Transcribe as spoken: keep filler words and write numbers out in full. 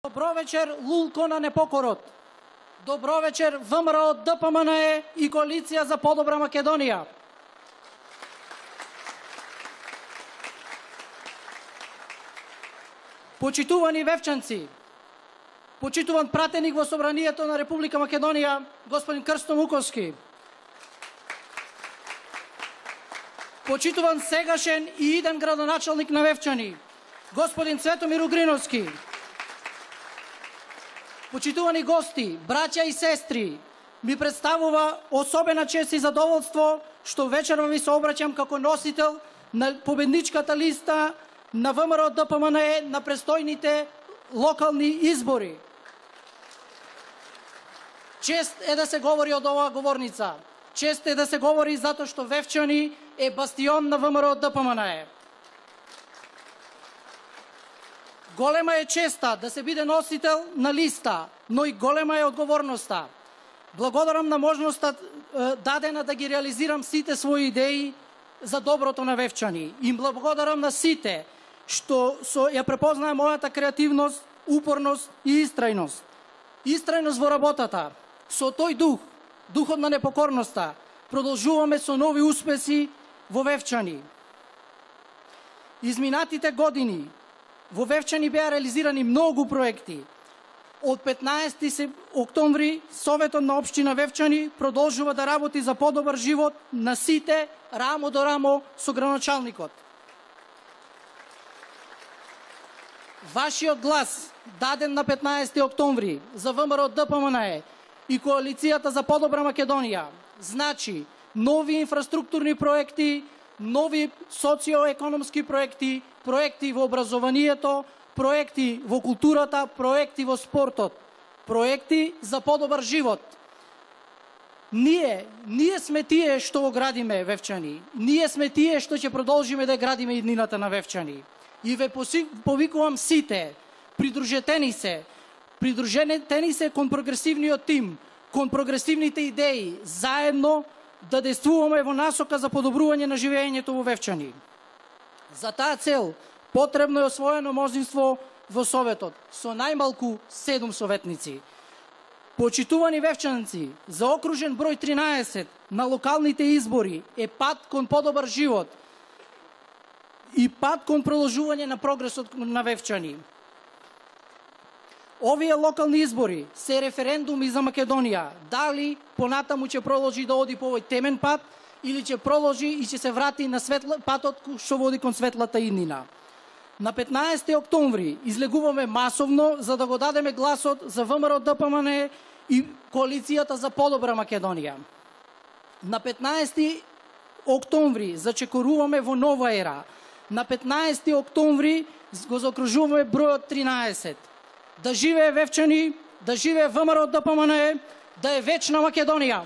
Добро вечер, Лулко на непокорот. Добро вечер, ВМРО, ДПМНЕ и Коалиција за подобра Македонија. Почитувани вевчанци, почитуван пратеник во Собранието на Република Македонија, господин Крсто Муковски, почитуван сегашен и иден градоначалник на Вевчани, господин Цветомир Угриновски, почитувани гости, браќа и сестри, ми представува особена чест и задоволство што вечерва ви се обраќам како носител на победничката листа на ВМРО ДПМНЕ на престојните локални избори. Чест е да се говори од оваа говорница. Чест е да се говори затоа што Вевчани е бастион на ВМРО ДПМНЕ. Голема е честа да се биде носител на листа, но и голема е одговорноста. Благодарам на можноста дадена да ги реализирам сите своји идеи за доброто на Вевчани. Им благодарам на сите што со ја препознае мојата креативност, упорност и истрајност. Истрајност во работата. Со тој дух, духот на непокорноста, продолжуваме со нови успеси во Вевчани. Изминатите години во Вевчани беа реализирани многу проекти. Од петнаесети октомври Советот на општина Вевчани продолжува да работи за подобар живот на сите рамо до рамо со градоначалникот. Вашиот глас, даден на петнаесети октомври за ВМРО ДПМНЕ и Коалицијата за подобра Македонија, значи нови инфраструктурни проекти, нови социоекономски проекти, проекти во образованието, проекти во културата, проекти во спортот, проекти за подобар живот. Ние, ние сме тие што го градиме Вевчани. Ние сме тие што ќе продолжиме да градиме иднината на Вевчани. И ве повикувам сите, придружете ни се, придружете ни се кон прогресивниот тим, кон прогресивните идеи, заедно да действуваме во насока за подобрување на живеењето во Вевчани. За таа цел потребно е освоено мнозинство во Советот со најмалку седум советници. Почитувани вевчанци, за окружен број тринаесет на локалните избори е пат кон подобар живот и пат кон продолжување на прогресот на Вевчани. Овие локални избори се референдуми за Македонија. Дали понатаму ќе продолжи да оди по овој темен пат или ќе продолжи и ќе се врати на светла, патот што води кон светлата иднина. На петнаесети октомври излегуваме масовно за да го дадеме гласот за ВМРО ДПМНЕ и Коалицијата за подобра Македонија. На петнаесети октомври зачекоруваме во нова ера. На петнаесети октомври го заокружуваме бројот тринаесет. Да живее Вевчани, да живее ВМРО ДПМНЕ, да е вечна Македонија!